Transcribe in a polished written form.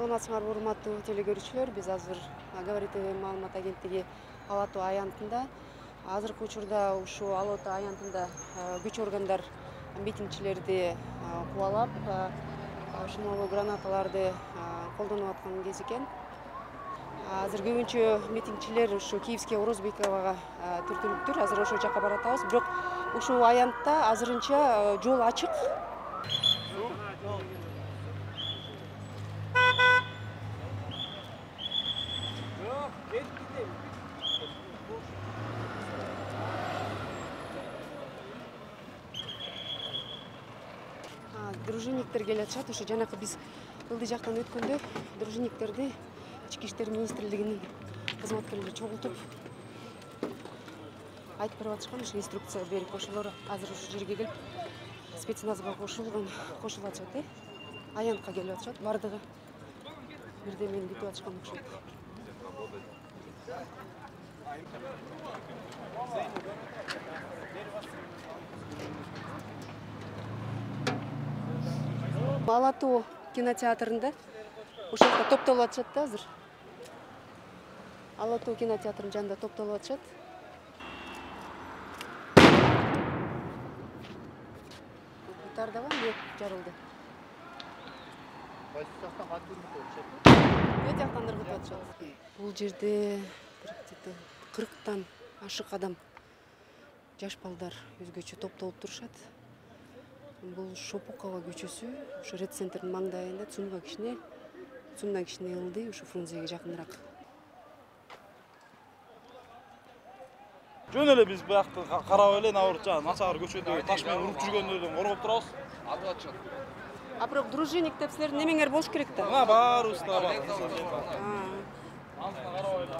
Саламатсыңарбы, урматтуу телекөрүүчүлөр. Биз азыр Говорит ТВ маалымат агенттиги Ала Тоо аянтында. Азыркы учурда ушул Ала Тоо аянтында күч органдар митингчилерди кубалап, шумолуу гранаталарды колдонуп аткан кез экен. Азыр көбүнчө митингчилер ушу Киевский Орозбековага түртүлүптүр. Азыр ошол жака баратабыз. Бирок ушул аянтта азырынча жол ачык. Дружинниктер келе атышат. Ошо жанакы биз ылдый жактан өткөндө дружинниктерди Ички иштер министрлигинин кызматкерлери чогултуп айтып берип атышкан, ошо инструкция берип ошолор азыр ушул жерге келип спецназга кошулуп атышат. Аянтка келип атышат. Бардыгы бирдемени күтүп атышкан окшойт. Ала Тоо кинотеатрында ошол жерде топтолуп атышат да азыр. Ала Тоо кинотеатрынын жанында топтолуп атышат. Тардабы эмне жарылды? Кайсы жактан кантип ыргытып атышат? Бул жактан ыргытып атышат. Бул жерде 40тан ашык адам, жаш балдар өзгөчө топтолуп турушат. Бул Шопукова көчөсү, ушу Ред центрдин маңдайында, Цумдан кичине ылдый, ушу Фрунзеге жакыныраак. Жөн эле биз буякты карап эле начар көчөдө таш менен уруп жүргөндөрдөн коргоп турабыз. Алып атышат. А бирок дружинник деп силердин немеңер болуш керек да. Мына баарыбыз да бар. Антына карабайлы.